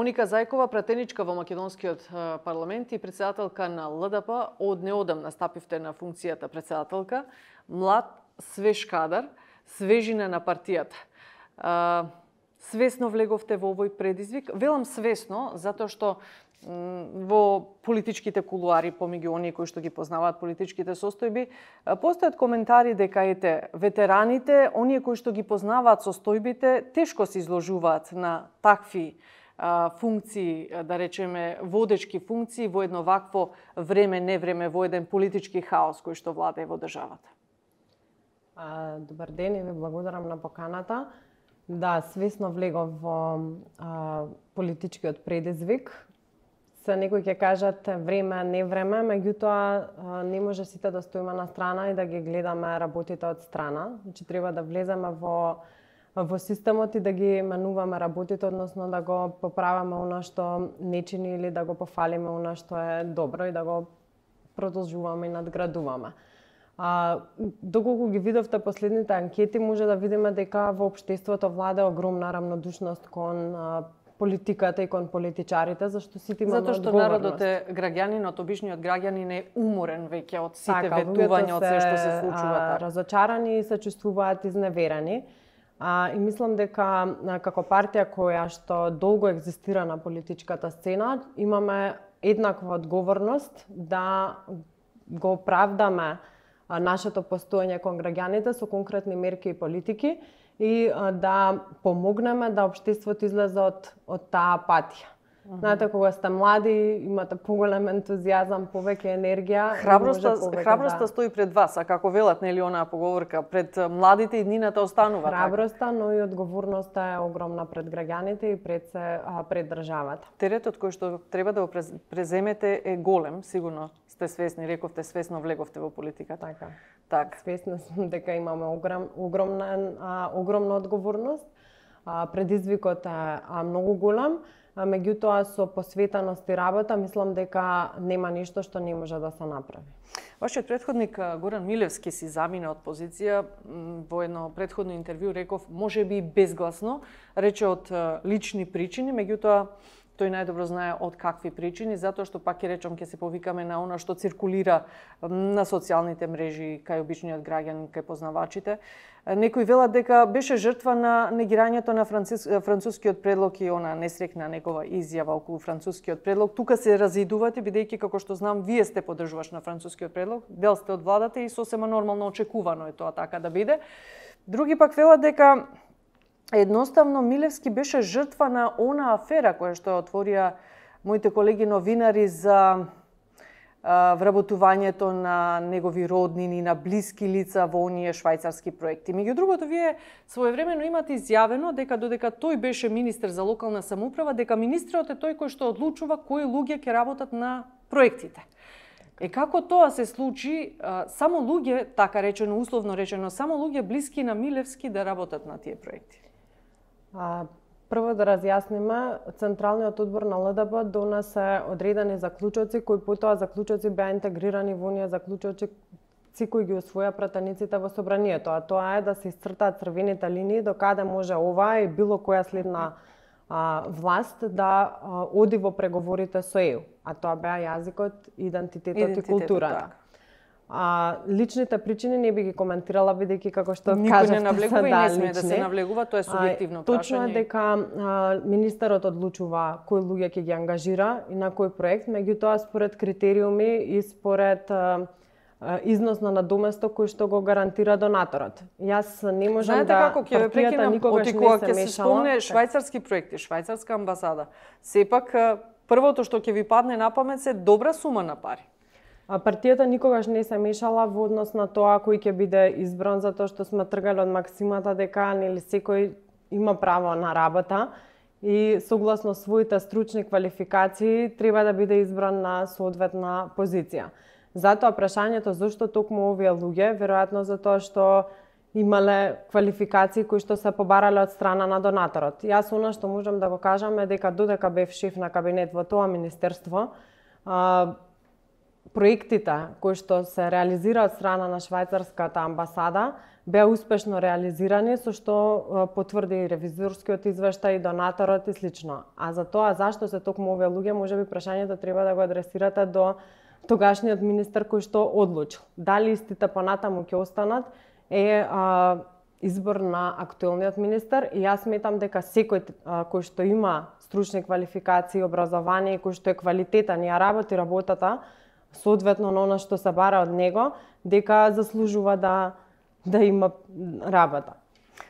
Моника Зајкова, пратеничка во македонскиот парламент и председателка на ЛДП, од неодамна стапивте на функцијата председателка, млад, свеж кадар, свежина на партијата. Свесно влеговте во овој предизвик? Велам свесно, затоа што во политичките кулуари, помеѓу оние кои што ги познаваат политичките состојби, постојат коментари дека ветераните, оние кои што ги познаваат состојбите, тешко се изложуваат на такви функции, да речеме водечки функции во едно вакво време, невреме, во еден политички хаос кој што владее во државата. Добар ден и ви благодарам на поканата. Да, свесно влегов во политичкиот предизвик. Некои ќе кажат време, не време, меѓутоа не може сите да стоиме на страна и да ги гледаме работите од страна. Значи треба да влеземе во системот и да ги менуваме работите, односно да го поправаме она што не чини или да го пофалиме она што е добро и да го продолжуваме и надградуваме. Доколку ги видовте последните анкети, може да видиме дека во општеството владе огромна рамнодушност кон политиката и кон политичарите, зашто сите имаме одговорност. Затоа што народот е граѓанинот, обичниот граѓанин е уморен веќе од сите ветувања, од се што се случува. Разочарани и се чувствуваат изневерени. И мислам дека како партија која што долго екзистира на политичката сцена, имаме еднаква одговорност да го оправдаме нашето постоење кон граѓаните со конкретни мерки и политики и да помогнеме да општеството излезе од таа апатија. Знаете, кога сте млади, имате поголем ентузијазам, повеќе енергија. Храброста стои пред вас, а како велат, нели онаа поговорка, пред младите и днината останува. Храброста, но и одговорноста е огромна пред граѓаните и пред државата. Теретот кој што треба да го преземете е голем, сигурно сте свесни, рековте, свесно влеговте во политиката. Така. Свесна сум дека имаме огромна одговорност. Предизвикот е многу голем, меѓутоа со посветеност и работа мислам дека нема ништо што не може да се направи. Вашиот претходник Горан Милевски си замина од позиција, во едно претходно интервју реков, можеби безгласно, рече од лични причини, меѓутоа тој најдобро знае од какви причини, затоа што пак ќе речам ќе се повикаме на она што циркулира на социјалните мрежи кај обичниот граѓанин, кај познавачите. Некои велат дека беше жртва на негирањето на францускиот предлог и она несрекна негова изјава околу францускиот предлог. Тука се разидувате, бидејќи како што знам, вие сте поддржуваш на францускиот предлог, дел сте од владата и сосема нормално очекувано е тоа така да биде. Други пак велат дека едноставно Милевски беше жртва на она афера која што отворија моите колеги новинари за вработувањето на негови роднини, на блиски лица во оние швајцарски проекти. Меѓу другото, вие своевремено имате изјавено дека додека тој беше министер за локална самоуправа, дека министерот е тој кој што одлучува кои луѓе ќе работат на проектите. Како тоа се случи, само луѓе, така речено, условно речено, само луѓе блиски на Милевски да работат на тие проекти? Прво да разјасниме, Централниот одбор на ЛДП донесе одредени заклучоци, кои потоа заклучоци беа интегрирани во оние заклучоци кои ги усвоја пратениците во собранието, а тоа е да се исцртаат црвените линии до каде може оваа и било која следна власт да оди во преговорите со ЕУ, а тоа беа јазикот, идентитетот и културата. Личните причини не би ги коментирала, бидејќи како што кажавте, не навлегува и не смее да се навлегува, тоа е субјективно прашање. Точно е дека министерот одлучува кои луѓе ќе ги ангажира и на кој проект, меѓутоа според критериуми и според износ на надоместок кој што го гарантира донаторот. Јас не можам да партијата никогаш не се мешала. Ќе се спомне швајцарски проекти, швајцарска амбасада. Сепак првото што ќе ви падне на памет се добра сума на пари. Партијата никогаш не се мешала во однос на тоа кој ќе биде избран, затоа што сме тргали од максимата дека нели секој има право на работа и согласно своите стручни квалификации треба да биде избран на соодветна позиција. Затоа прашањето зошто токму овие луѓе, веројатно затоа што имале квалификации кои што се побарале од страна на донаторот. Јас она што можам да го кажам е дека додека бев шеф на кабинет во тоа министерство, проектите кои што се реализира од страна на швајцарската амбасада беа успешно реализирани, со што потврди и ревизорскиот извештај, и донаторот и слично. А за тоа зашто се токму овие луѓе, можеби прашањето треба да го адресирате до тогашниот министер кој што одлучил. Дали истите понатаму ќе останат е избор на актуелниот министер, и јас сметам дека секој кој што има стручни квалификации, образование, кој што е квалитетен и работи работата соодветно на она што се бара од него, дека заслужува да има работа.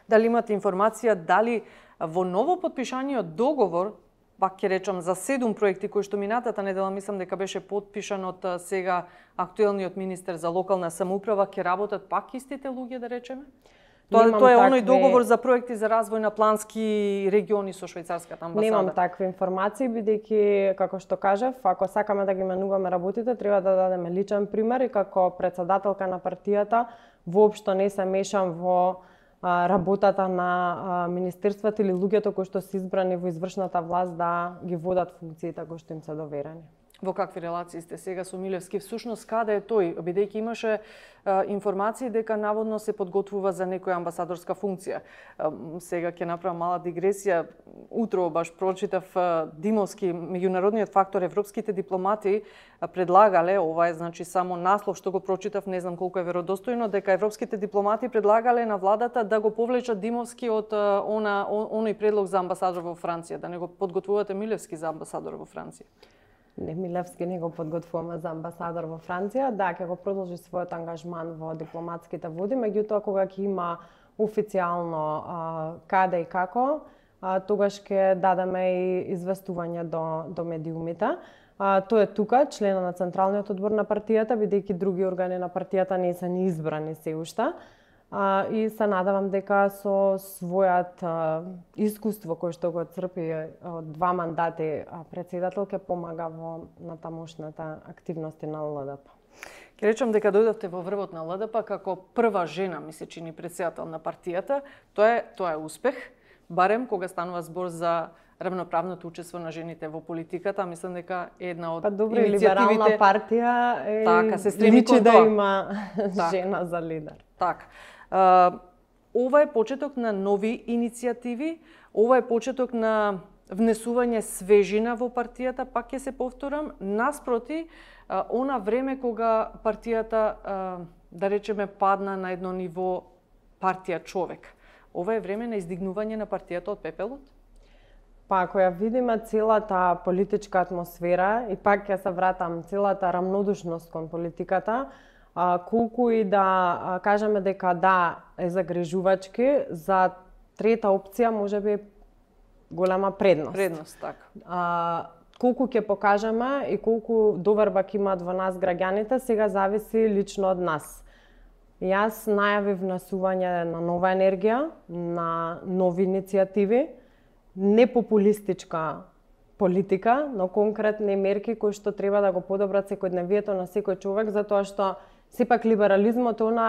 Дали имате информација дали во ново подпишаниот договор, пак ќе речам за 7 проекти кои што минатата недела мислам дека беше подпишан од сега актуелниот министер за локална самоуправа, ќе работат пак истите луѓе, да речеме? Тоа е оној договор за проекти за развој на плански региони со швајцарската амбасада. Немам такви информации, бидејќи, како што кажав, ако сакаме да ги менуваме работите, треба да дадеме личен пример, и како председателка на партијата воопшто не се мешам во работата на министерствата или луѓето кои што се избрани во извршната власт да ги водат функциите кои што им се доверени. Во какви релации сте сега со Милевски? Всушност, каде е тој? Бидејќи имаше информации дека наводно се подготвува за некоја амбасадорска функција. Сега ќе направам мала дигресија. Утро баш прочитав Димовски, меѓународниот фактор, европските дипломати предлагале, ова е значи само наслов што го прочитав, не знам колку е веродостојно, дека европските дипломати предлагале на владата да го повлечат Димовски од оној предлог за амбасадор во Франција, да не го подготвувате Милевски за амбасадор во Франција. Не, Милевски не го подготвуваме за амбасадор во Франција. Да, ќе го продолжи својот ангажман во дипломатските води, меѓутоа кога ќе има официјално каде и како, тогаш ќе дадеме и известување до медиумите. Тој е тука, член на Централниот одбор на партијата, бидејќи други органи на партијата не се ни избрани се уште. И се надевам дека со својот искуство кој што го црпи од 2 мандати председател ќе помага во натамошната активности на ЛДП. Ќе речам дека дојдовте во врвот на ЛДП како прва жена, ми се чини, председател на партијата. Тоа е успех, барем кога станува збор за равноправното учество на жените во политиката. Мислам дека е една од добро, иницијативите... либерална партија е така, се стреми личи кон да тоа. има жена за лидер. Така. Ова е почеток на нови иницијативи, ова е почеток на внесување свежина во партијата, пак ќе се повторам, наспроти она време кога партијата, да речеме, падна на едно ниво партија човек. Ова е време на издигнување на партијата од пепелот? Па ако ја видиме целата политичка атмосфера, и пак ќе се вратам, целата рамнодушност кон политиката, колку и да кажеме дека да е загрижувачки, за трета опција можеби голема предност. Предност, така. Колку ќе покажеме и колку доверба ќе имаат во нас граѓаните, сега зависи лично од нас. Јас најавив внесување на нова енергија, на нови иницијативи, не популистичка политика, но конкретни мерки кои што треба да го подобрат секојдневието на секој човек, затоа што сепак либерализмот е она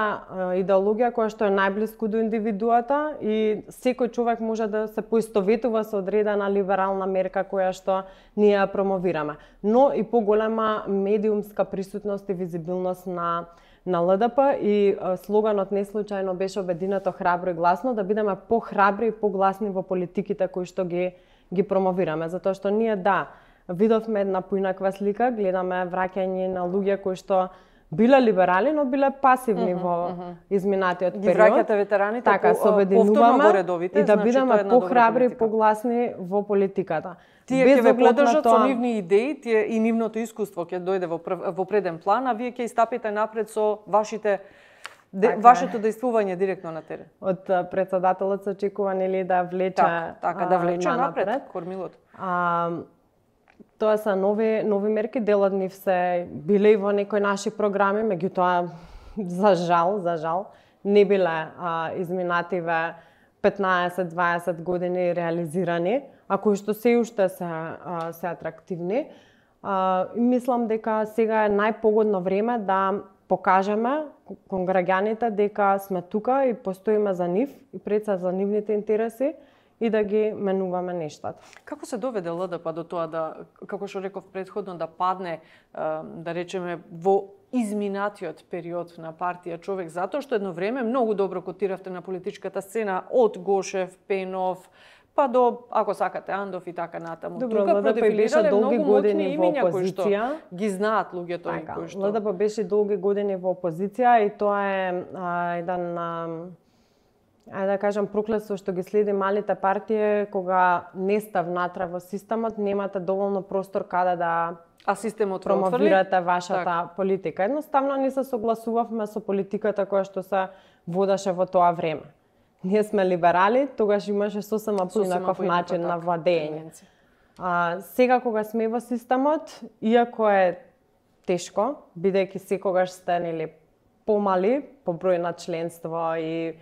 идеологија која што е најблиску до индивидуата и секој човек може да се поистоветува со одредена либерална мерка која што ние ја промовираме. Но и поголема медиумска присутност и визибилност на ЛДП, и слоганот неслучајно беше обединето, храбро и гласно, да бидеме похрабри и погласни во политиките кои што ги промовираме, затоа што ние видовме една поинаква слика, гледаме враќање на луѓе кои што биле либерали, но биле пасивни во изминатиот период. Ги враќате ветераните така, повторно во редовите, и да бидеме похрабри и погласни во политиката. Тие ќе ве поддржат со нивни идеи, и нивното искуство ќе дојде во преден план, а вие ќе истапите напред со вашето действување директно на терен. Од председателот се очекува нели да влече да влече напред кормилото. Тоа се нови мерки, дел од нив се биле и во некои наши програми, меѓутоа за жал не биле изминативе 15-20 години реализирани, а кои што се уште се атрактивни. Мислам дека сега е најпогодно време да покажеме кон граѓаните дека сме тука и постоиме за нив и пред се за нивните интереси, и да ги менуваме нештата. Како се доведе ЛДП до тоа да, како што реков предходно, да падне, да речеме, во изминатиот период на партија Човек, затоа што едно време многу добро котиравте на политичката сцена од Гошев, Пенов, па до, ако сакате, Андов и така натаму. Добро, тука ЛДП беше долги години во имиња кои што опозиција. Ги знаат луѓето и Така, кои што... ЛДП беше долги години во опозиција и тоа е еден ајде да кажам проклетство што ги следи малите партии кога не сте внатре во системот, немате доволно простор каде да А системот промовирате вашата политика. Едноставно не се согласувавме со политиката која што се водеше во тоа време. Ние сме либерали, тогаш имаше сосема поинаков начин на владење. Сега кога сме во системот, иако е тешко, бидејќи секогаш сте помали по број на членство и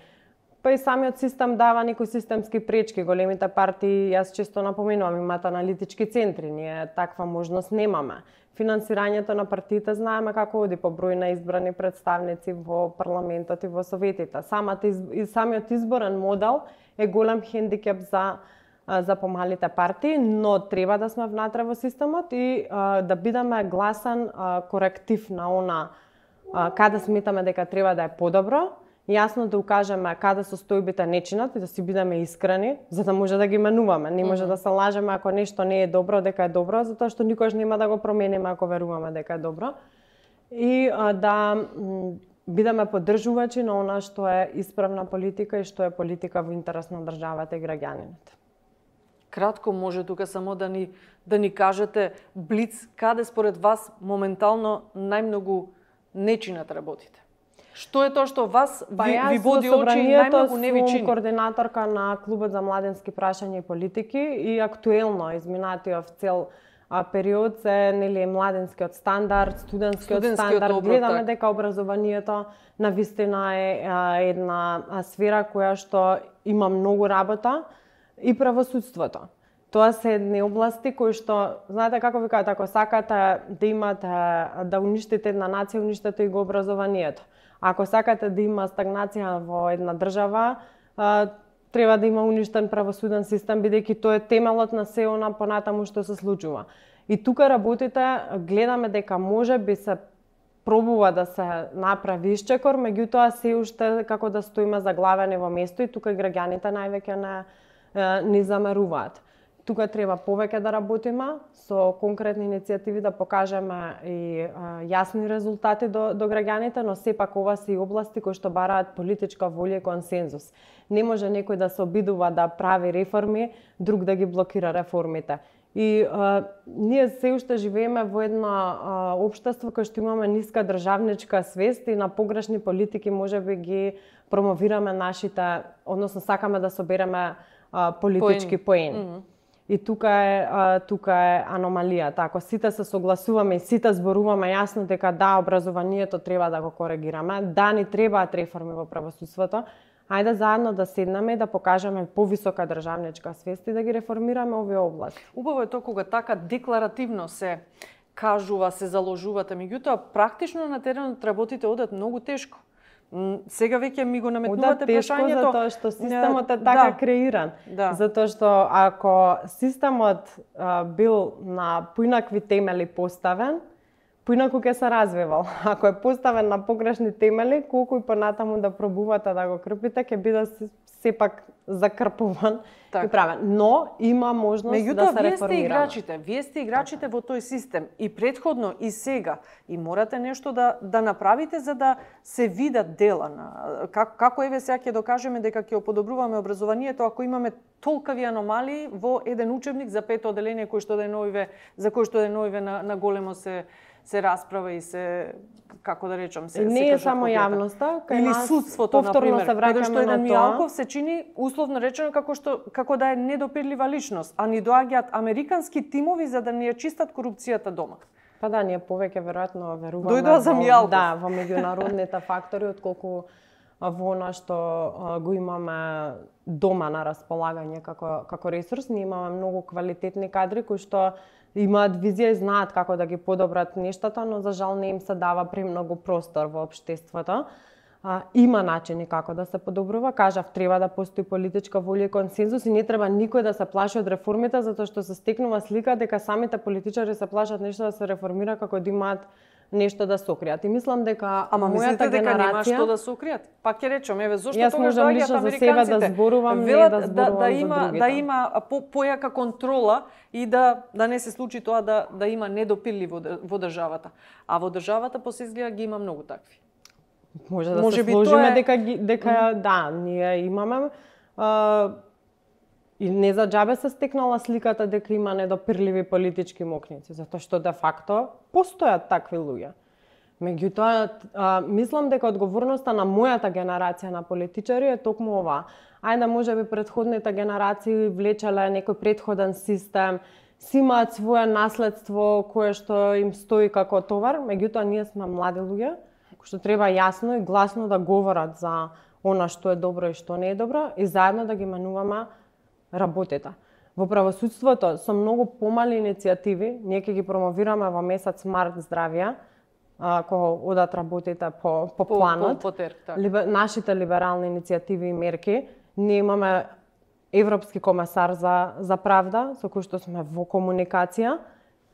па и самиот систем дава некои системски пречки. Големите партии, јас често напоменувам, имаат аналитички центри, ние таква можност немаме. Финансирањето на партиите знаеме како оди по број на избрани представници во парламентот и во советите. Самиот изборен модел е голем хендикеп за помалите партии, но треба да сме внатре во системот и да бидеме гласен коректив на она каде сметаме дека треба да е подобро, јасно да укажеме каде состојбите не чинат и да си бидеме искрени, за да може да ги менуваме. Не може да се лажеме ако нешто не е добро, дека е добро, затоа што никош нема да го промениме ако веруваме дека е добро. И да бидеме поддржувачи на она што е исправна политика и што е политика во интерес на државата и граѓанините. Кратко може тука само да ни кажете блиц каде според вас моментално најмногу не чинат работите. Што е тоа што вас ви води очи и најмногу не ви чини? Јас сум координаторка на Клубот за младенски прашања и политики и актуелно изминатиот цел период се младенскиот стандард, студентскиот стандард. Гледаме дека образованието навистина е една сфера која што има многу работа и правосудството. Тоа се едни области кои што, знаете како ви кажат, ако сакате да имате, да уништите една нација, уништете и го образованието. Ако сакате да има стагнација во една држава, треба да има уништен правосуден систем, бидејќи тоа е темелот на се она понатаму што се случува. И тука работите, гледаме дека може би се пробува да се направи исчекор, меѓутоа се уште како да стоиме заглавени во место и тука и граѓаните највеќе не замеруваат. Тука треба повеќе да работиме со конкретни иницијативи да покажеме и јасни резултати до граѓаните, но сепак ова се и области кои што бараат политичка волја и консензус. Не може некој да се обидува да прави реформи, друг да ги блокира реформите. И ние се уште живееме во едно општество кое што имаме ниска државничка свест и на погрешни политики можеби ги промовираме нашите, односно сакаме да собереме политички поени. И тука е аномалијата. Ако сите се согласуваме и сите зборуваме јасно дека да, образованието треба да го коригираме, да, ни требаат реформи во правосудството, ајде заедно да седнеме и да покажеме повисока државничка свест и да ги реформираме овие области. Убаво е тоа кога така декларативно се кажува, се заложувате, меѓутоа практично на теренот работите одат многу тешко. Сега веќе ми го наметнувате прашањето. Затоа што системот е така креиран. Затоа што ако системот бил на поинакви темели поставен, поинаку ќе се развивал. Ако е поставен на погрешни темели, колку и понатаму да пробувате да го крпите, ќе биде сепак закрпуван и правен. Но има можност да се реформираме. Вие сте играчите во тој систем и претходно и сега и морате нешто да направите за да се видат дела на како еве сега ќе докажеме дека ќе подобруваме образованието ако имаме толкави аномалии во еден учебник за пето оделение кој што за кој што деновиве на големо се расправа и се, како да речам, се не е само јавноста, кај или судството, повторно се враќаме што еден Мијалков се чини условно речено како да е недопирлива личност, а ни доаѓаат американски тимови за да ни ја чистат корупцијата дома. Па да, ние повеќе веројатно веруваме дојдоа за Мијалков. Да, во меѓународните фактори отколку во она што го имаме дома на располагање како ресурс. Ние имаме многу квалитетни кадри кои што имаат визија и знаат како да ги подобрат нештата, но за жал не им се дава премногу простор во општеството. има начини како да се подобрува. Кажав, треба да постои политичка волја и консензус и не треба никој да се плаши од реформите, затоа што се стекнува слика дека самите политичари се плашат нешто да се реформира како да имаат нешто да сокријат. И мислам дека мојата генерација нема што да сокријат. Пак ќе речам, еве зошто тогаш доаѓаат американците да зборувам, не да зборувам за другите. Да има појака контрола и да не се случи тоа да има недопирли во државата. А во државата посезгледа ги има многу такви. Може да се сложиме дека да, ние имаме и не за џабе се стекнала сликата дека има недопирливи политички мокници, затоа што де факто постојат такви луѓе. Меѓутоа, мислам дека одговорноста на мојата генерација на политичари е токму ова. Ајде, можеби претходните генерации влечеле некој претходен систем, си имаат свое наследство кое што им стои како товар, меѓутоа ние сме млади луѓе, што треба јасно и гласно да говорат за она што е добро и што не е добро и заедно да ги менуваме работите. Во правосудството со многу помали иницијативи, ние ќе ги промовираме во месец март здравје, кога одат работите по планот, нашите либерални иницијативи и мерки. Ние имаме Европски комесар за правда, со кој што сме во комуникација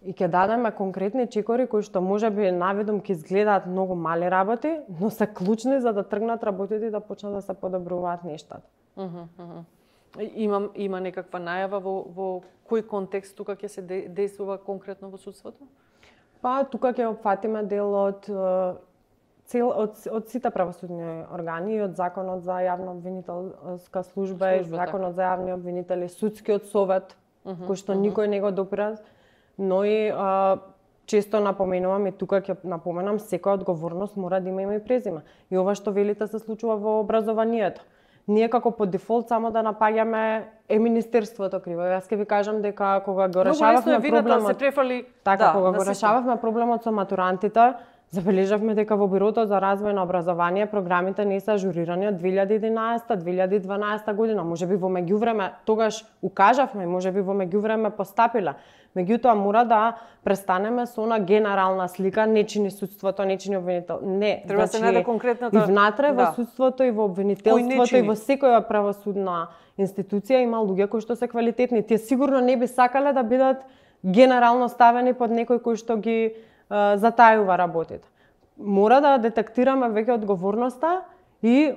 и ќе дадеме конкретни чекори кои што можеби навидом ќе изгледаат многу мали работи, но се клучни за да тргнат работите и да почнат да се подобруваат нештата. Има некаква најава во кој контекст тука ќе се действува конкретно во судството? Па тука ќе опфатиме дел од сите правосудни органи и од Законот за јавна обвинителска служба и Законот за јавни обвинители, Судскиот совет, кој што никој не го допира, но и често напоменувам и тука ќе напоменам, секоја одговорност мора да има име и презиме. И ова што велите се случува во образованието. Ние како по дефолт само да напаѓаме министерството криво. Јас ќе ви кажам дека кога го решававме проблемот, кога го решававме проблемот со матурантите, забележавме дека во Бирото за развој на образование програмите не се ажурирани од 2011-2012 година. Можеби во меѓувреме тогаш укажавме, можеби во меѓувреме постапиле. Меѓутоа мора да престанеме со она генерална слика, не чини судството, не чини обвинител. Не, треба се најде конкретната. И внатре во судството и во обвинителството и во секоја правосудна институција има луѓе кои што се квалитетни. Тие сигурно не би сакале да бидат генерално ставени под некој кој што ги затајува работите. Мора да детектираме веќе одговорноста и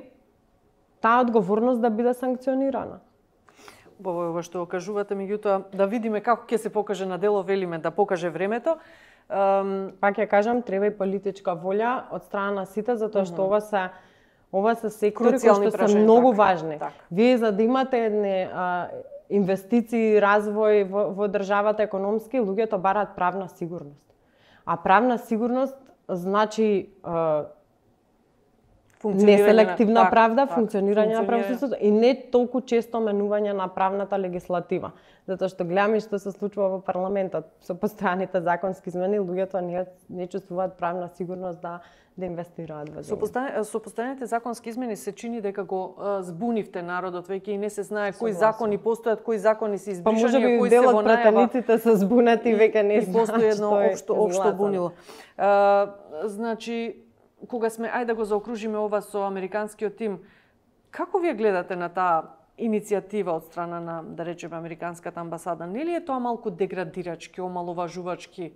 таа одговорност да биде санкционирана. Ова што го кажувате, меѓутоа да видиме како ќе се покаже на дело, велиме да покаже времето. Пак ја кажам, треба и политичка волја од страна на сите, затоа што ова се сектори кои што се многу важни. Вие за да имате едни инвестиции, развој во државата економски, луѓето бараат правна сигурност. А правна сигурност значи неселективна правда, функционирање на правосудството и не толку често менување на правната легислатива. Затоа што гледаме што се случува во парламентот со постојаните законски измени, луѓето не чувствуваат правна сигурност да инвестираат во земја. Со постојаните законски измени се чини дека го збунивте народот веќе и не се знае кои закони постојат, кои закони се избришани, кои се во најава. Па можеби делот пратениците се збунети веќе не знаат. Постои едно општо бунило. Значи, кога сме, ајде да го заокружиме ова со американскиот тим, како вие гледате на таа иницијатива од страна на, да речеме, американската амбасада? Нели е тоа малку деградирачки, омаловажувачки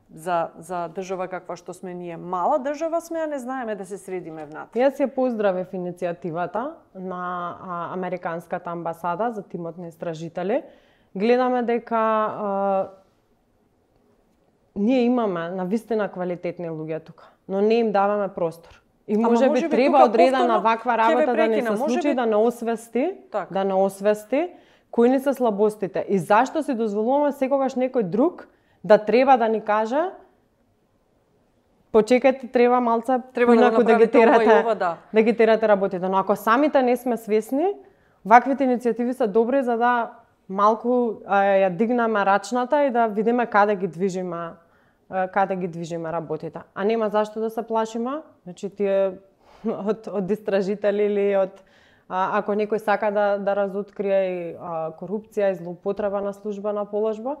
за држава каква што сме ние? Мала држава сме, а не знаеме да се средиме внатре. Јас ја поздравив иницијативата на американската амбасада за тимот на истражители. Гледаме дека ние имаме навистина квалитетни луѓе тука, но не им даваме простор. И можеби треба одредена ваква работа да не се случи, да не освести кои ни се слабостите и зашто си дозволуваме секогаш некој друг да треба да ни каже почекайте, треба малце инаку да ги терате работите. Но ако самите не сме свесни, ваквите иницијативи се добри за да малку ја дигнеме рачната и да видиме каде ги движиме работите. А нема зашто да се плашиме, значи тие од истражители или ако некој сака да разоткрие и корупција и злоупотреба на службена положба,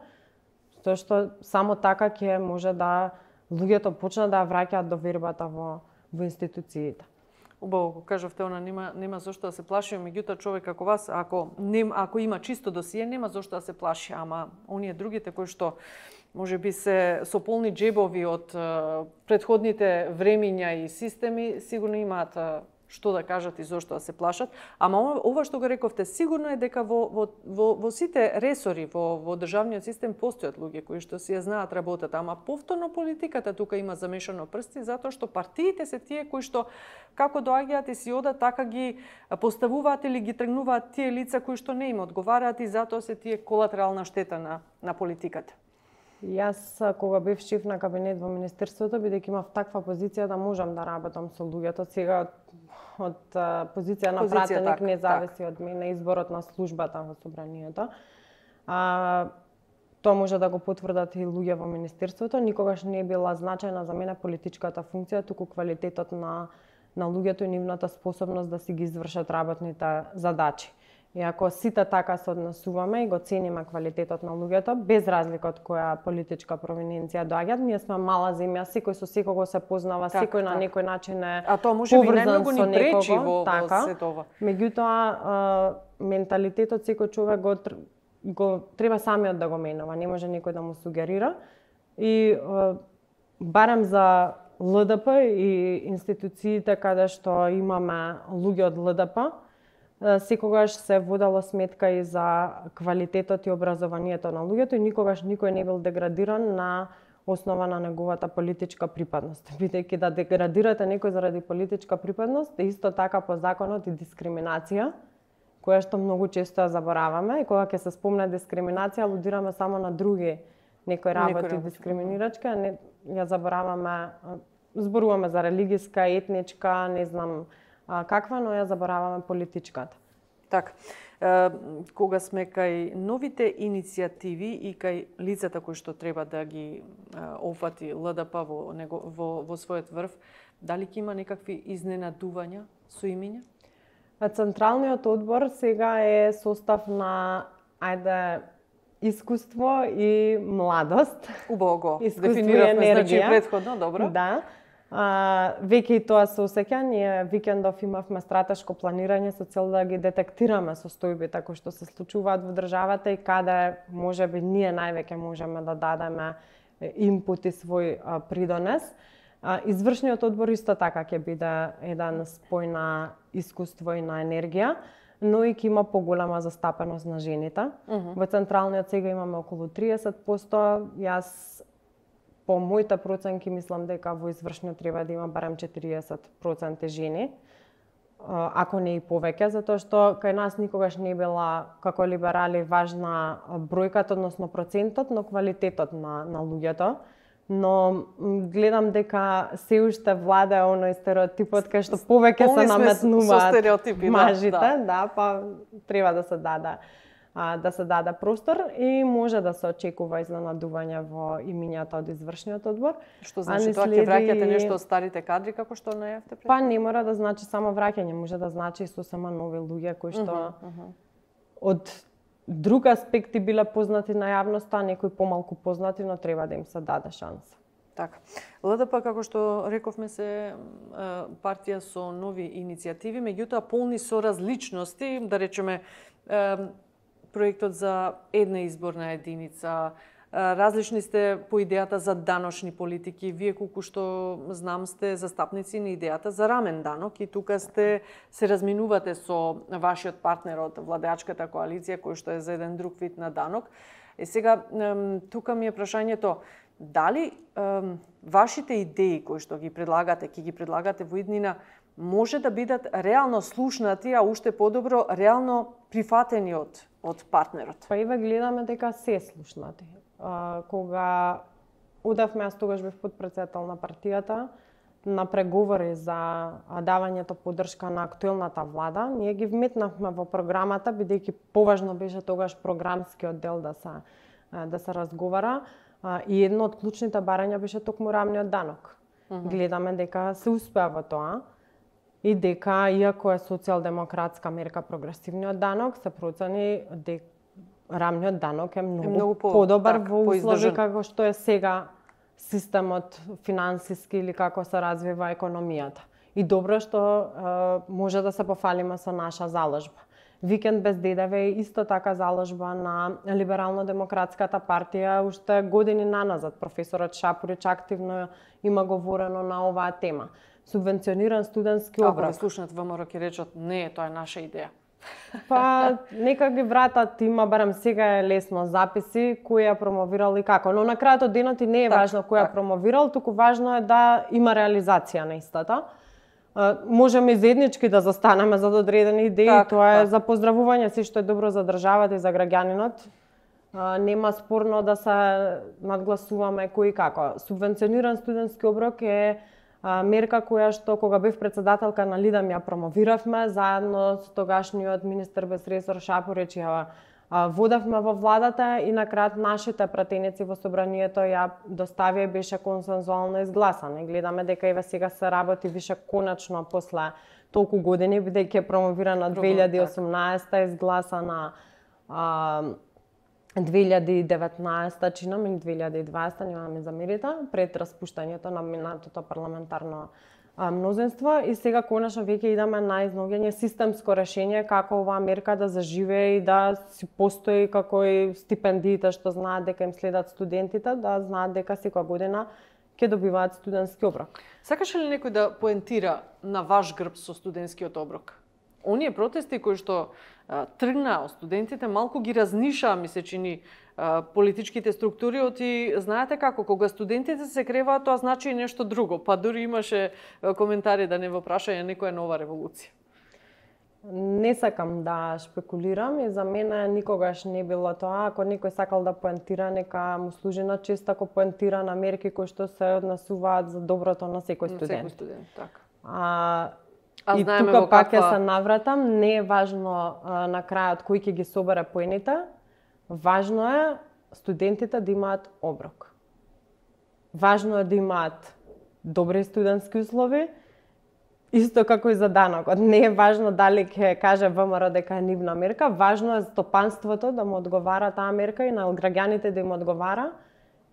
тоа што само така ќе може да луѓето почнат да ја враќаат довербата во институциите. Убаво го кажавте, она нема зошто да се плаши, меѓутоа човек како вас, ако има чисто досие, нема зошто да се плаши, ама оние другите кои што можеби се со полни джебови од претходните времиња и системи, сигурно имаат што да кажат и зошто да се плашат. Ама ова што го рековте, сигурно е дека во сите ресори во државниот систем постојат луѓе кои што си ја знаат работата, ама повторно политиката тука има замешано прсти, затоа што партиите се тие кои што како доаѓаат и си одат, така ги поставуваат или ги тргнуваат тие лица кои што не им одговараат и затоа се тие колатерална штета на политиката. Јас, кога бев шеф на кабинет во Министерството, бидејќи имав таква позиција да можам да работам со луѓето, сега од позиција на пратеник не зависи од мене изборот на службата во Собранието. Тоа може да го потврдат и луѓе во Министерството. Никогаш не е била значајна за мене политичката функција, туку квалитетот на луѓето и нивната способност да си ги извршат работните задачи. И ако сите така се однесуваме и го цениме квалитетот на луѓето, без разлика од која политичка провиненција доаѓаат, ние сме мала земја, секој со секого се познава, секој на некој начин е а тоа може би најмногу ни пречи во сето ова. Меѓутоа, менталитетот секој човек го треба самиот да го менува, не може некој да му сугерира. И барем за ЛДП и институциите каде што имаме луѓе од ЛДП, секогаш се водела сметка и за квалитетот и образованието на луѓето и никогаш никој не бил деградиран на основа на неговата политичка припадност. Бидејќи да деградирате некој заради политичка припадност е исто така по законот и дискриминација, која што многу често ја забораваме и кога ќе се спомне дискриминација, алудираме само на други некои работи дискриминирачки, а не ја забораваме, зборуваме за религиска, етничка, не знам каква, но ја забораваме политичката. Така, кога сме кај новите иницијативи и кај лицата кои што треба да ги опфати ЛДП во својот врв, дали ќе има некакви изненадувања со имиња? Централниот одбор сега е состав на искуство и младост. Убаво го дефиниравме, значи претходно, добро. Да. Веќе и тоа се осеќа, ние викендов имавме стратешко планирање со цел да ги детектираме состојбите кои што се случуваат во државата и каде можеби ние највеќе можеме да дадеме инпут и свој придонес. Извршниот одбор исто така ќе биде еден спој на искуство и на енергија, но и ќе има поголема застапеност на жените. Во централниот сега имаме околу 30%, јас по моите проценки мислам дека во извршниот треба да има барем 40% жени, ако не и повеќе, затоа што кај нас никогаш не била како либерали важна бројката, односно процентот, но квалитетот на луѓето. Но гледам дека се уште влада оној стереотипот кај што повеќе се наметнуваат мажите, да, па треба да се даде простор и може да се очекува изненадување во имињата од извршниот одбор. Што значи тоа ќе враќате нешто од старите кадри како што најавте пред? Па не мора да значи само враќање, може да значи и сосема нови луѓе кои што од друг аспекти биле познати на јавноста, а некои помалку познати, но треба да им се даде шанса. Така. ЛДП, како што рековме, се партија со нови иницијативи, меѓутоа полни со различности, да речеме проектот за една изборна единица, различни сте по идејата за даночни политики. Вие колку што знам сте застапници на идејата за рамен данок и тука се разминувате со вашиот партнер од владеачката коалиција кој што е за еден друг вид на данок. Сега тука ми е прашањето дали вашите идеи кои што ги предлагате, ќе ги предлагате во иднина, може да бидат реално слушнати, а уште подобро реално прифатени од партнерот? Па еве гледаме дека се слушнати. Кога одевме, јас тогаш бев потпредседател на партијата, на преговори за давањето поддршка на актуелната влада, ние ги вметнавме во програмата, бидејќи поважно беше тогаш програмскиот дел да се разговара, и едно од клучните барања беше токму рамниот данок. Гледаме дека се успеа во тоа и дека, иако е социјалдемократска мерка прогресивниот данок, се процени дека рамниот данок е многу подобар во услови како што е сега системот финансиски или како се развива економијата. И добро што може да се пофалиме со наша заложба. Викенд без ДДВ е исто така заложба на Либерално-демократската партија уште години наназад. Професорот Шапорич активно има говорено на оваа тема. Субвенциониран студентски оброк. Ако слушнат ВМРО ќе речат не, тоа е наша идеја. Па нека ги вратат, има барем сега е лесно записи кој ја промовирал и како, но на крајот од денот и не е важно кој ја промовирал, туку важно е да има реализација на истата. Можеме заеднички да застанеме за одредени идеи, тоа е за поздравување, се што е добро за државата и за граѓанинот. Нема спорно да се надгласуваме кој и како. Субвенциониран студентски оброк е мерка која што кога бев председателка на Лидам ја промовиравме заедно со тогашниот министер без ресор Шапорич, ја водевме во владата и на крајот нашите пратеници во собранието ја доставија и беше консензуално изгласана. И гледаме дека еве сега се работи више конечно после толку години, бидејќи е промовирана 2018, изгласана 2019, чинам, или 2020, нема ми замерите, пред распуштањето на минатото парламентарно мнозинство, и сега конечно веќе идеме на изнаоѓање системско решение како оваа мерка да заживее и да си постои како и стипендиите што знаат дека им следат студентите, да знаат дека секоја година ќе добиваат студентски оброк. Сакаше ли некој да поентира на ваш грб со студентскиот оброк? Оние протести кои што тргнаа од студентите малку ги разнишаа, ми се чини, политичките структури, оти знаете како кога студентите се креваат, тоа значи и нешто друго, па дури имаше коментари да не во прашање некоја нова револуција. Не сакам да шпекулирам и за мене никогаш не било тоа. Ако некој сакал да поентира, нека му служи на чест ако поентира на мерки кои што се однесуваат за доброто на секој студент. На секој студент, така. И тука пак ќе се навратам, не е важно на крајот кој ќе ги собере поените, важно е студентите да имаат оброк. Важно е да имаат добри студентски услови, исто како и за данокот. Не е важно дали ќе каже ВМРО дека е нивна мерка, важно е стопанството да му одговара таа мерка и на граѓаните да им одговара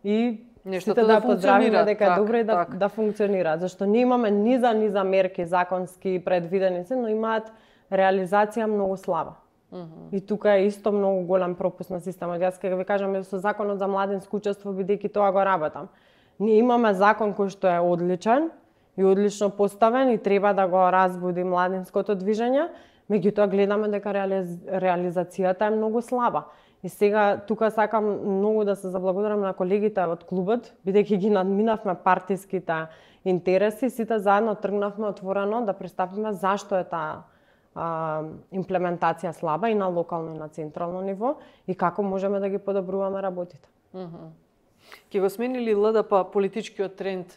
и нештото да поздравиме дека е добро и да функционира. Зашто ние имаме низа мерки законски предвидени се, но имаат реализација многу слаба. И тука е исто многу голем пропуст на системот. Јас ќе ви кажам со законот за младинско учество, бидејќи тоа го работам. Ние имаме закон кој што е одличен и одлично поставен и треба да го разбуди младинското движење, меѓутоа гледаме дека реализацијата е многу слаба. И сега тука сакам многу да се заблагодарам на колегите од клубот, бидејќи ги надминавме партиските интереси, сите заедно тргнавме отворено да представиме зашто е таа имплементација слаба и на локално и на централно ниво и како можеме да ги подобруваме работите. Ќе го сменили ЛДП политичкиот тренд,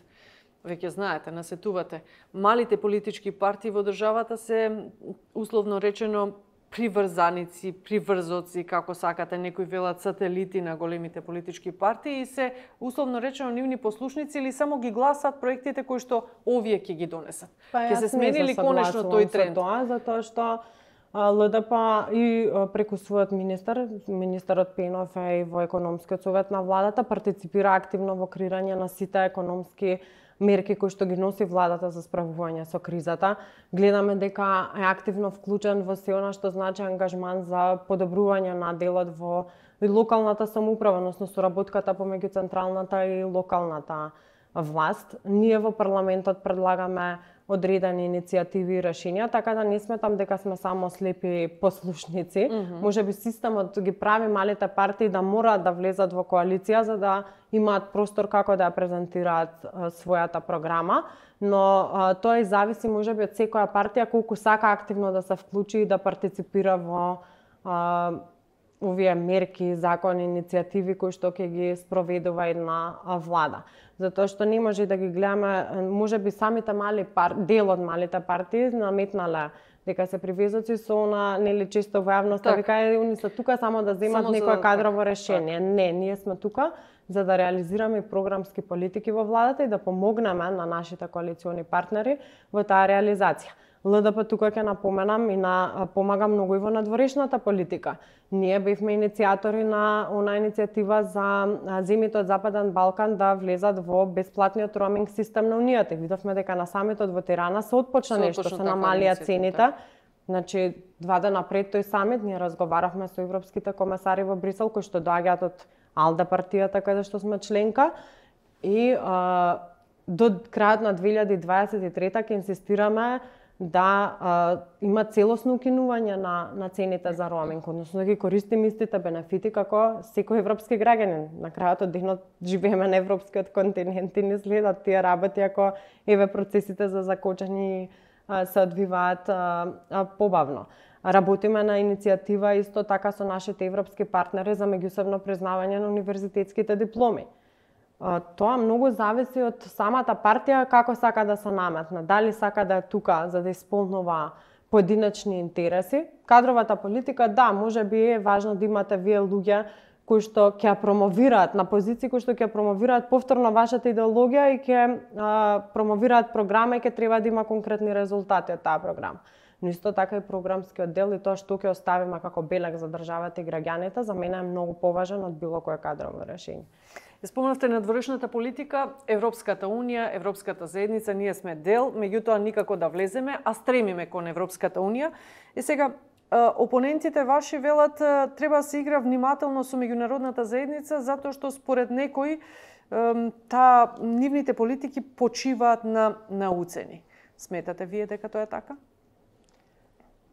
веќе знаете, насетувате. Малите политички партии во државата се, условно речено, приврзаници, приврзоци, како сакате, некои велат сателити на големите политички партии и се, условно речено, нивни послушници или само ги гласат проектите кои што овие ќе ги донесат. Ќе се сменили конечно тој тренд? Тоа, затоа што ЛДП и преку својот министерот Пенов и во економскиот совет на владата партиципира активно во креирање на сите економски мерки кои што ги носи владата за справување со кризата. Гледаме дека е активно вклучен во се она што значи ангажман за подобрување на делот во локалната самоуправа, односно соработката помеѓу централната и локалната власт. Ние во парламентот предлагаме одредени иницијативи и решенија, така да не сметам дека сме само слепи послушници. Можеби системот ги прави малите партии да мораат да влезат во коалиција за да имаат простор како да ја презентираат својата програма, но тоа и зависи можеби од секоја партија колку сака активно да се вклучи и да партиципира во овие мерки, закони, иницијативи кои што ќе ги спроведува една влада. Затоа што не може да ги гледаме, можеби самите дел од малите партии наметнале дека се привезоци со она, нели често во јавноста вика они се тука само да земат некое кадрово решение. Не, ние сме тука за да реализираме програмски политики во владата и да помогнеме на нашите коалициони партнери во таа реализација. ЛДП тука ќе напоменам и помага многу и во надворешната политика. Ние бевме иницијатори на она иницијатива за земјите од Западен Балкан да влезат во бесплатниот роуминг систем на Унијата. Видовме дека на самитот во Тирана се отпочна нешто, се намалија цените. Значи, 2 дена пред тој самит ние разговаравме со европските комесари во Брисел кои што доаѓаат од АЛДЕ партијата каде што сме членка и до крајот на 2023 ќе инсистираме да има целосно укинување на цените за роуминг, односно да ги користиме истите бенефити како секој европски граѓанин. На крајот од денот живееме на европскиот континент и не следат тие работи ако процесите за закочани се одвиваат побавно. Работиме на иницијатива исто така со нашите европски партнери за меѓусебно признавање на универзитетските дипломи. Тоа многу зависи од самата партија како сака да се наметне. Дали сака да е тука за да исполнува поединечни интереси. Кадровата политика, да, можеби е важно да имате вие луѓе кои што ќе промовираат на позиции кои што ќе промовираат повторно вашата идеологија и ќе промовираат програма и ќе треба да има конкретни резултати од таа програма. Но исто така и програмскиот дел и тоа што ќе оставиме како белег за државата и граѓаните за мене е многу поважен од било кое кадрово решение. Спомнавте надворешната политика, Европската Унија, Европската заедница, ние сме дел, меѓутоа никако да влеземе, а стремиме кон Европската Унија. И сега, опонентите ваши велат треба да се игра внимателно со меѓународната заедница, затоа што според некои нивните политики почиваат на уцени. Сметате вие дека тоа е така?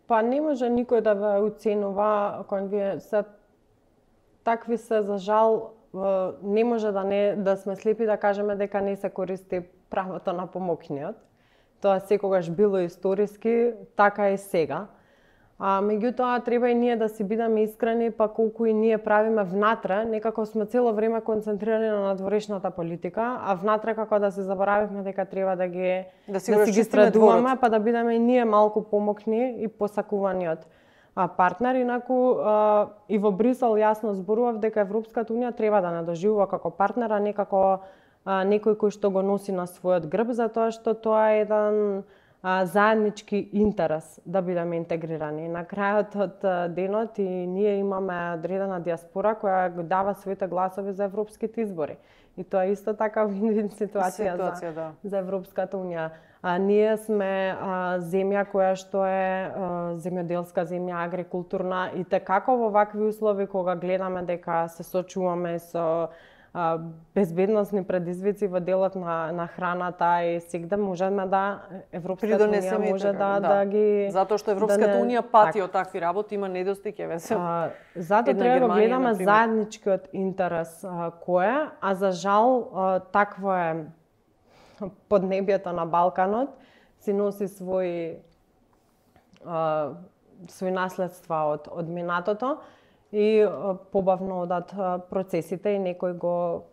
Па не може никој да ве уценува, кон вие такви се за жал. Не може да сме слепи да кажеме дека не се користи правото на помокниот. Тоа секогаш било историски, така и сега. Меѓутоа треба и ние да си бидеме искрени, па колку и ние правиме внатре, некако сме цело време концентрирани на надворешната политика, а внатре како да се заборавивме дека треба да си ги страдуваме, па да бидеме и ние малку помокни и посакувани од партнер. Инаку и во Брисел јасно зборував дека Европската Унија треба да не доживува како партнер, а не како некој кој што го носи на својот грб, затоа што тоа е еден заеднички интерес да бидеме интегрирани. На крајот од денот и ние имаме одредена диаспора која го дава своите гласови за европските избори. И тоа е исто така вин-вин ситуација за Европската Унија. Ние сме земја која што е земјоделска земја, агрикултурна и како во вакви услови кога гледаме дека се сочуваме со безбедносни предизвици во делот на храната и сегде можеме да Европската Унија може да ги затоа што Европската Унија пати од такви работи, има недостиг еве се. Затоа треба да гледаме заедничкиот интерес кој е, а за жал такво е поднебјето на Балканот, си носи своји наследства од минатото и побавно одат процесите и некој го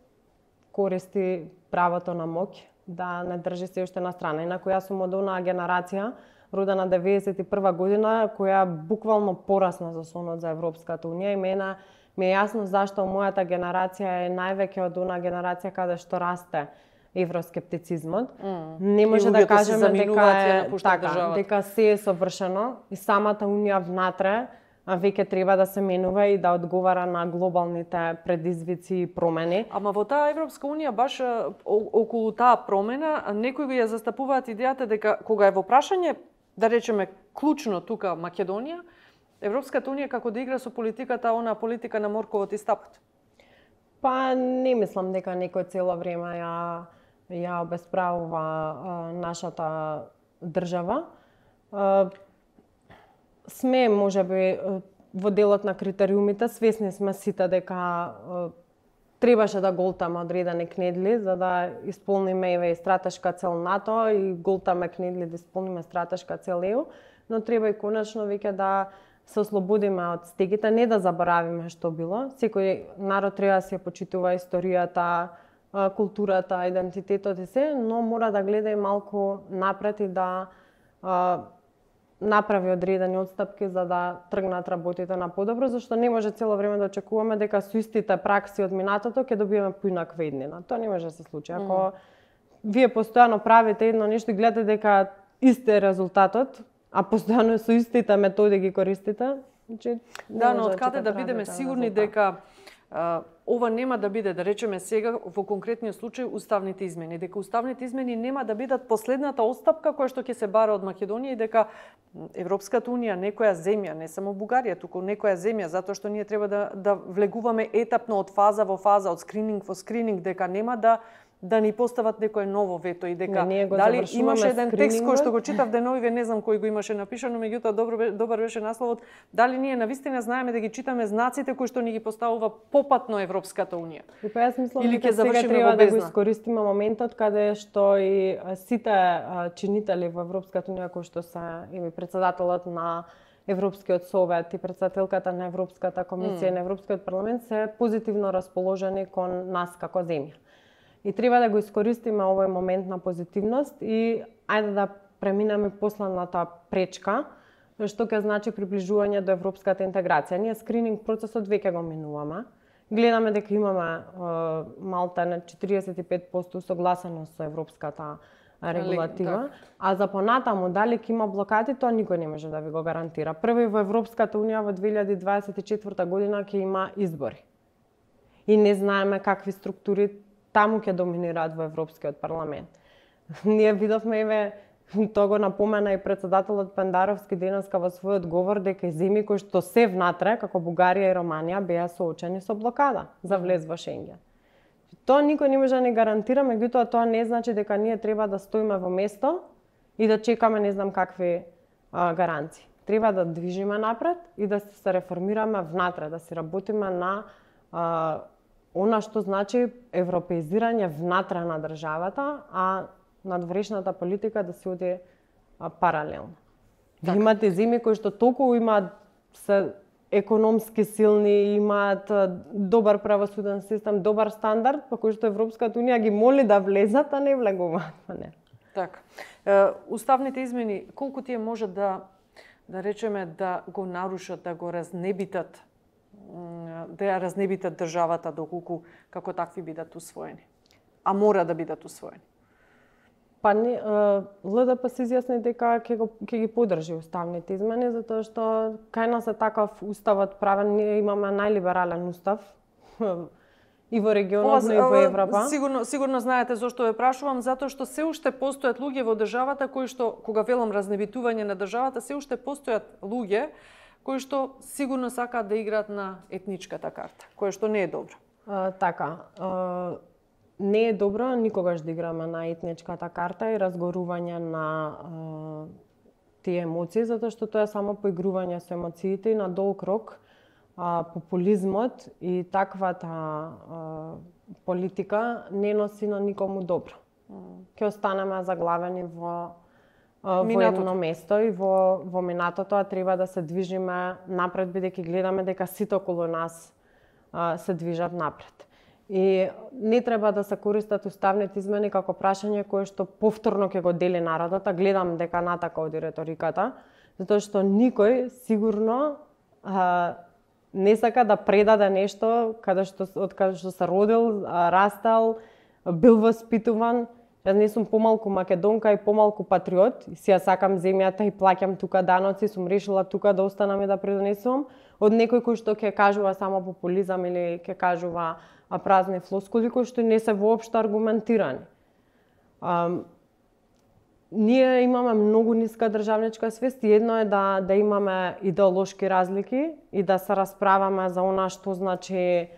користи правото на моќ да не држи се уште на страна. Инаку јас сум од онаа генерација, родена 91 година, која буквално порасна за сонот за Европската Унија и мене ми е јасно зашто мојата генерација е највеќе од онаа генерација каде што расте евроскептицизмот. Не може да кажеме дека се е совршено и самата Унија внатре веќе треба да се менува и да одговара на глобалните предизвици и промени. Ама во таа Европска Унија баш околу таа промена некои ја застапуваат идејата дека кога е во прашање, да речеме клучно тука Македонија, Европската Унија како да игра со политиката, она политика на морковот и стапот. Па не мислам дека некој цело време ја обесправува нашата држава. Сме, можеби, во делот на критериумите, свесни сме сите дека требаше да голтаме одредени кнедли за да исполниме и стратешка цел НАТО и голтаме кнедли да исполниме стратешка цел ЕУ, но треба и конечно веќе да се ослободиме од стегите, не да заборавиме што било. Секој народ треба да се почитува историјата, културата, идентитетот и се, но мора да гледа и малку напред и да направи одредени отстапки за да тргнат работите на подобро, зашто не може цело време да очекуваме дека со истите пракси од минатото ќе добиеме поинаква иднина. Тоа не може да се случи. Ако вие постојано правите едно нешто и гледате дека исти резултатот, а постојано со истите методи ги користите, значи да, но откаде да бидеме сигурни дека ова нема да биде, да речеме сега во конкретниот случај, уставните измени, дека уставните измени нема да бидат последната отстапка која што ќе се бара од Македонија и дека Европската унија, некоја земја, не само Бугарија, туку некоја земја, затоа што ние треба да влегуваме етапно од фаза во фаза, од скрининг во скрининг, дека нема да ни постават некое ново вето и дека дали имаше еден текст кој што го читав деновиве, не знам кој го имаше напишано, меѓутоа добар беше насловот, дали ние навистина знаеме да ги читаме знаците кои што ни ги поставува попатно Европската унија. И па јас мислам дека сега треба да го искористиме моментот каде што и сите чинители во Европската унија кои што се и председателот на Европскиот совет и председателката на Европската комисија на Европскиот парламент се позитивно расположени кон нас како земја. И треба да го искористиме овој момент на позитивност и ајде да преминеме последната пречка, што ќе значи приближување до европската интеграција. Ние скрининг процесот веќе го минуваме. Гледаме дека имаме малта на 45% согласеност со европската регулатива, а за понатаму дали ќе има блокади, тоа никој не може да ви го гарантира. Први во Европската унија во 2024 година ќе има избори. И не знаеме какви структури таму ќе доминираат во Европскиот парламент. Ние видовме, тоа го напомена и председателот Пендаровски денеска во својот говор, дека и земји кои што се внатре, како Бугарија и Романија, беа соочени со блокада за влез во Шенген. Тоа никој не може да ни гарантира, меѓутоа тоа не значи дека ние треба да стоиме во место и да чекаме не знам какви гаранции. Треба да движиме напред и да се реформираме внатре, да се работиме на она што значи европеизирање внатре на државата, а надворешната политика да се оди паралелно. Да имате земји кои што толку имаат се економски силни, имаат добар правосуден систем, добар стандард, по кој што Европската унија ги моли да влезат, а не влегуваат во неа. Така. Уставните измени колку тие може да речеме да го нарушат, да го разнебитат, да ја разнебитат државата доколку како такви бидат усвоени, а мора да бидат усвоени? Па не, ЛДП се изјасни дека ќе ги поддржи уставните измени, затоа што кај нас е таков уставот правен, ние имаме најлиберален устав и во регионот, но и во Европа. Сигурно знаете зошто ве прашувам, затоа што се уште постојат луѓе во државата кои што, кога велам разнебитување на државата, се уште постојат луѓе кои што сигурно сакаат да играат на етничката карта, кое што не е добро. Не е добро никогаш да играме на етничката карта и разгорување на тие емоции, затоа што тоа е само поигрување со емоциите и на долг рок популизмот и таквата политика не носи на никому добро. Ќе останеме заглавени во едно место и во минатото, а треба да се движиме напред, бидејќи гледаме дека сите околу нас се движат напред. И не треба да се користат уставните измени како прашање кое што повторно ќе го дели народот, а гледам дека натака оди реториката, затоа што никој сигурно не сака да предаде нешто од каде што се родил, растал, бил воспитуван. Јас не сум помалку македонка и помалку патриот, и си ја сакам земјата и плаќам тука даноци, сум решила тука да останам и да придонесувам, од некој кој што ќе кажува само популизам или ќе кажува празни флоскули кои што не се воопшто аргументирани. Ние имаме многу ниска државничка свест и едно е да имаме идеолошки разлики и да се расправаме за она што значи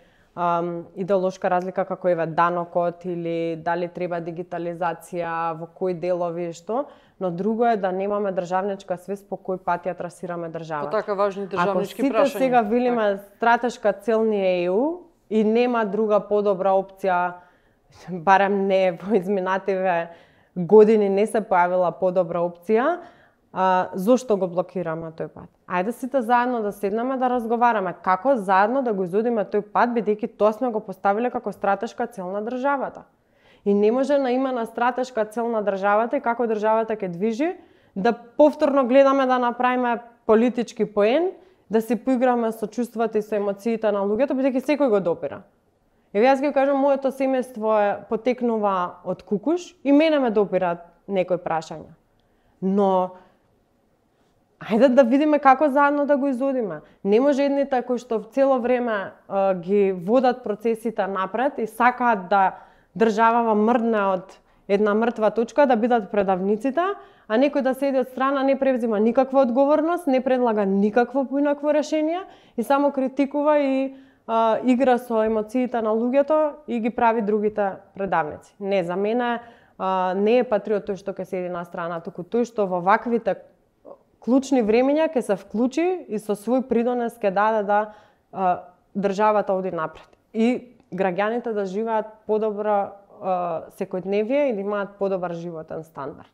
идеолошка разлика како еве данокот или дали треба дигитализација, во кои делови што, но друго е да немаме државничка свест по кој пат ја трасираме државата. По така важни државнички прашања. Ако сите сега велиме стратешка цел ни е ЕУ и нема друга подобра опција, барем не во изминативе години не се појавила подобра опција, зошто го блокираме тој пат? Ајде сите заедно да седнеме да разговараме како заедно да го изодиме тој пат, бидејќи тоа сме го поставиле како стратешка цел на државата. И не може на име на стратешка цел на државата и како државата ќе движи, да повторно гледаме да направиме политички поен, да се поиграме со чувствата и со емоциите на луѓето, бидејќи секој го допира. Еве јас ќе кажам, моето семејство потекнува од Кукуш и мене ме допираат некои прашања. но ајде да видиме како заедно да го изодиме. Не може едните кои што цело време ги водат процесите напред и сакаат да државава мрдне од една мртва точка, да бидат предавниците, а некој да седи од страна, не превзима никаква одговорност, не предлага никакво поинакво решение и само критикува и игра со емоциите на луѓето и ги прави другите предавници. Не, за мене не е патриот тој што ќе седи на страна, туку тој што во ваквите клучни времења ќе се вклучи и со свој придонес ќе даде да државата оди напред. И граѓаните да живеат подобро секојдневие и да имаат подобар животен стандард.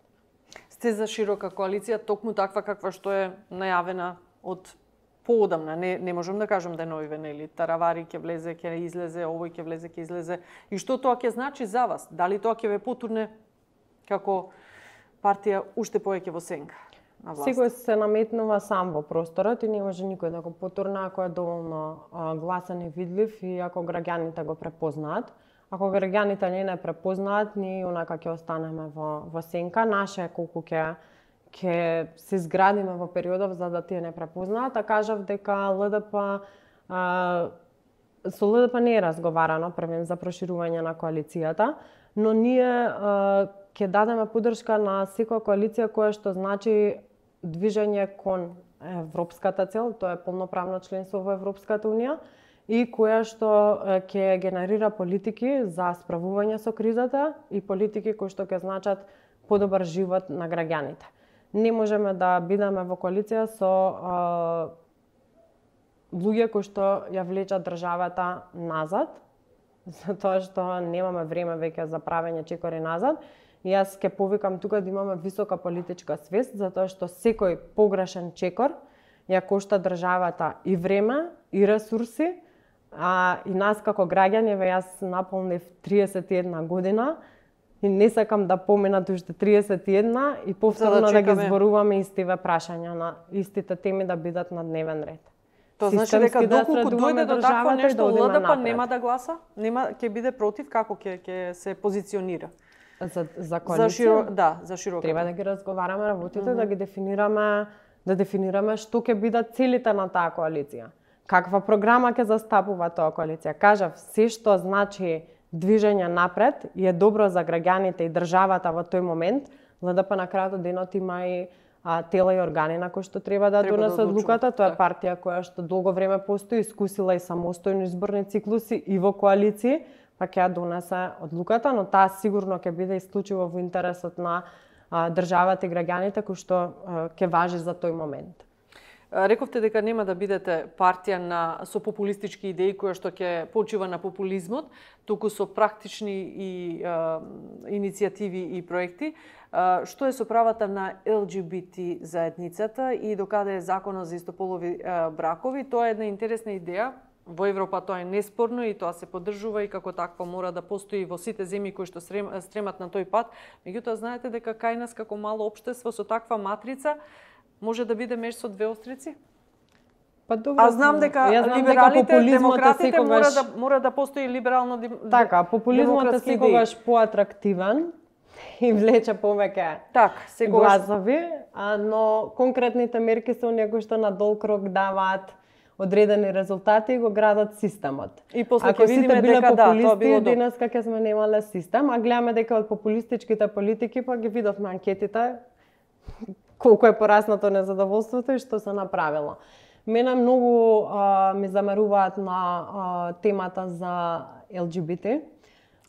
Сте за широка коалиција, токму таква каква што е најавена од поодамна. Не можам да кажам да е нови венели. Таравари ќе влезе, ќе излезе, овој ќе влезе, ќе излезе. И што тоа ќе значи за вас? Дали тоа ќе ве потурне како партија уште повеќе во сенка на власт? Секој се наметнува сам во просторот и не може никој да го потурне ако е доволно гласен и видлив и ако граѓаните го препознаат. Ако граѓаните не препознаат, ние онака ќе останеме во сенка. Наше колку ќе се изградиме во периодов за да тие не препознаат, а кажав дека со ЛДП не е разговарано првен за проширување на коалицијата, но ние ќе дадеме поддршка на секоја коалиција која што значи движење кон европската цел, тоа е полноправно членство во Европската унија, и која што ќе генерира политики за справување со кризата и политики кои што ќе значат подобар живот на граѓаните. Не можеме да бидеме во коалиција со луѓе кои што ја влечат државата назад, затоа што немаме време веќе за правење чекори назад. И јас ќе повикам тука да имаме висока политичка свест, затоа што секој погрешен чекор ја кошта државата и време, и ресурси, и нас како граѓани, јас наполнив 31 година и не сакам да поминат уште 31 и повторно да ги зборуваме истиве прашања на истите теми да бидат на дневен ред. Тоа значи дека доколку дојде до такво нешто, ЛДП нема да гласа? Ќе биде против? Како ќе се позиционира? За коалиција? За широка. Треба да ги разговараме работите, да ги дефинираме што ќе бидат целите на таа коалиција. Каква програма ќе застапува тоа коалиција? Кажав, се што значи движење напред и е добро за граѓаните и државата во тој момент, ЛДП на крајот од денот има и тела и органи на кои што треба да донесат одлуката. Тоа е партија која што долго време постои, искусила и самостојни изборни циклуси и во коалиции, па ќе ја донесе одлуката, но таа сигурно ќе биде исклучиво во интересот на државата и граѓаните кои што ќе важи за тој момент. Рековте дека нема да бидете партија со популистички идеи која што ќе почива на популизмот, туку со практични и иницијативи и проекти. Што е со правата на ЛГБТ заедницата и докаде е законот за истополови бракови? Тоа е една интересна идеја. Во Европа тоа е неспорно и тоа се поддржува и како такво мора да постои во сите земји кои што стремат на тој пат. Меѓутоа, знаете дека кај нас како мало општество со таква матрица може да биде меч со две острици? Па добро. Знам дека либералите, демократите мора да постои либерално така, популизмот е секогаш поатрактивен и влече повеќе гласови, но конкретните мерки се оние кои што на долг рок даваат одредени резултати и го градат системот. И после ќе видиме дека тоа било денеска ќе сме немале систем, а гледаме дека од популистичките политики па ги видовме анкетите колку е пораснато незадоволството и што се направило. Мене многу ми замеруваат на темата за ЛГБТ.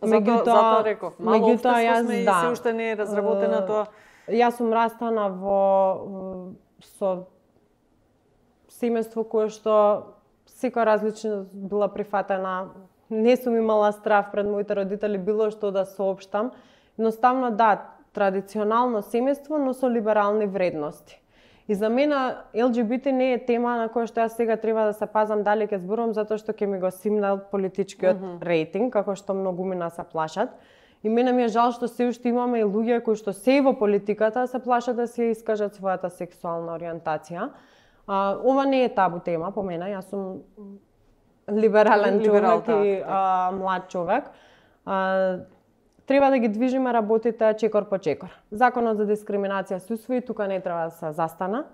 Затоа реков, мало општество сме и се уште не е разработено тоа. Јас сум растана со семејство кое што секоја различност била прифатена. Не сум имала страв пред моите родители било што да соопштам. Едноставно традиционално семејство, но со либерални вредности. И за мене ЛГБТ не е тема на која што јас сега треба да се пазам дали ќе зборувам затоа што ќе ми го симнал политичкиот рейтинг, како што многумина се плашат. И мене ми е жал што се уште имаме и луѓе кои што се во политиката се плашат да се искажат својата сексуална ориентација. Ова не е табу тема по мене, јас сум либерален човек и млад човек. треба да ги движиме работите чекор по чекор. Законот за дискриминација се усвои, тука не треба да се застана.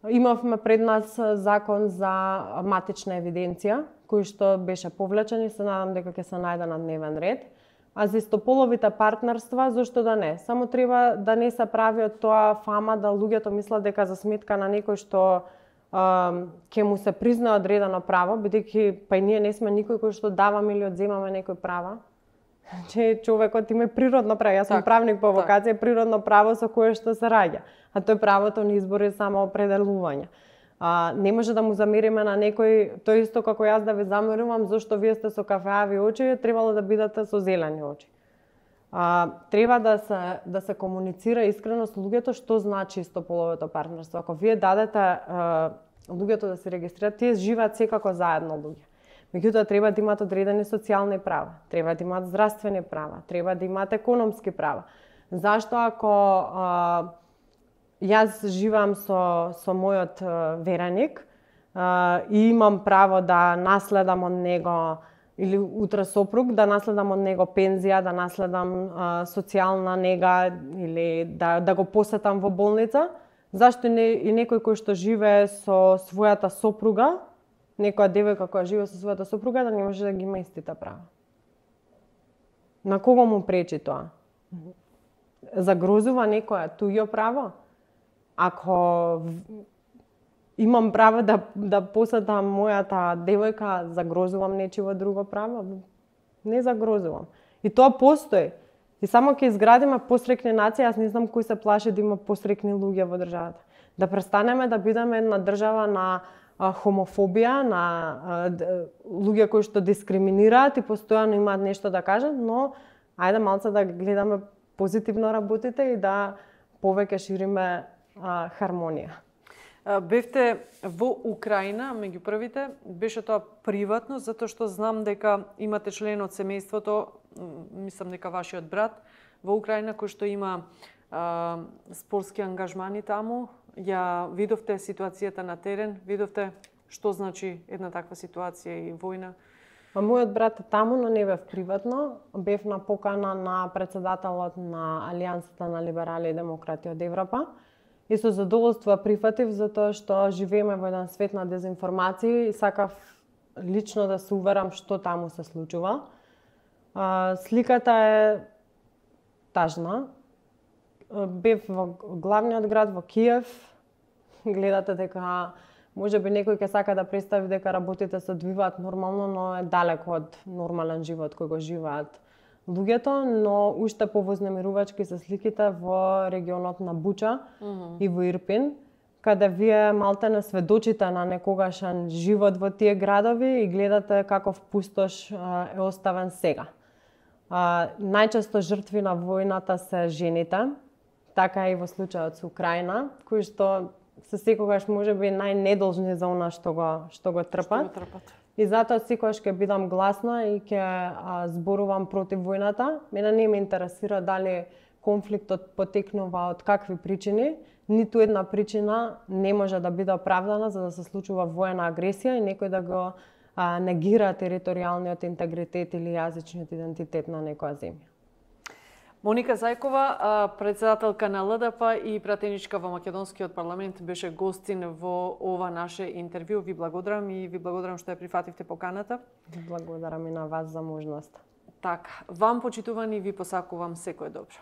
Имавме пред нас закон за матична евиденција, кој што беше повлечен и се надам дека ќе се најде на дневен ред. А за истополовите партнерства, зошто да не? Само треба да не се прави од тоа фама да луѓето мислат дека за сметка на некој што ќе му се признае одредено право, бидејќи па и ние не сме никој кој што даваме или одземаме некој права. Че човекот има природно право, јас сум правник по вокација, природно право со кое што се раѓа, а тоа е правото на избор и самоопределување. Не може да му замериме на некој, тоа исто како јас да ви замерувам зошто вие сте со кафеави очи, требало да бидете со зелени очи. Треба да се комуницира искрено со луѓето што значи истополовото партнерство. Ако вие дадете луѓето да се регистрираат, тие живеат секако заедно луѓе. Меѓутоа треба да имаат одредени социјални права, треба да имаат здравствени права, треба да имаат економски права. Зашто ако јас живеам со мојот вереник и имам право да наследам од него или утре сопруг, да наследам од него пензија, да наследам социјална нега или да го посетам во болница, зашто и некој кој што живее со својата сопруга, некоја девојка која живее со својата сопруга, да не може да ги има истите права? На кого му пречи тоа? Загрозува некоја туѓо право? Ако имам право да посетам мојата девојка, загрозувам нечиво друго право? Не загрозувам. И тоа постои. И само ќе изградиме посрекни нација, јас не знам кој се плаши да има посрекни луѓе во државата. Да престанеме да бидеме една држава на хомофобија, на луѓе кои што дискриминираат и постојано имаат нешто да кажат, но ајде малце да гледаме позитивно работите и да повеќе шириме хармонија. Бевте во Украина, меѓу првите, беше тоа приватно, затоа што знам дека имате член од семејството, мислам дека вашиот брат, во Украина, кој што има спортски ангажмани таму. Ја видовте ситуацијата на терен, видовте што значи една таква ситуација и војна? Мојот брат е таму, но не бев приватно. Бев на покана на председателот на Алијансата на либерали и демократи од Европа. И со задоволство прифатив, затоа што живееме во еден свет на дезинформации и сакав лично да се уверам што таму се случува. Сликата е тажна. Бев во главниот град, во Киев. Гледате дека можеби некој ќе сака да представи дека работите се одвиваат нормално, но е далеко од нормален живот кој го живеат луѓето, но уште повознемирувачки се сликите во регионот на Буча и во Ирпин, каде вие малтене сведочите на некогашен живот во тие градови и гледате каков пустош е оставен сега. Најчесто жртви на војната се жените, така и во случајот со Украина, кои што се секогаш можеби најнедолжни за она што го трпат. И затоа секогаш ќе бидам гласна и ќе зборувам против војната. Мене не ме интересира дали конфликтот потекнува од какви причини. Ниту една причина не може да биде оправдана за да се случува воена агресија и некој да го негира територијалниот интегритет или јазичниот идентитет на некоја земја. Моника Зајкова, председателка на ЛДП и пратеничка во Македонскиот парламент, беше гостин во ова наше интервју. Ви благодарам и ви благодарам што ја прифативте поканата. Благодарам и на вас за можноста. Така, вам почитувани ви посакувам секое добро.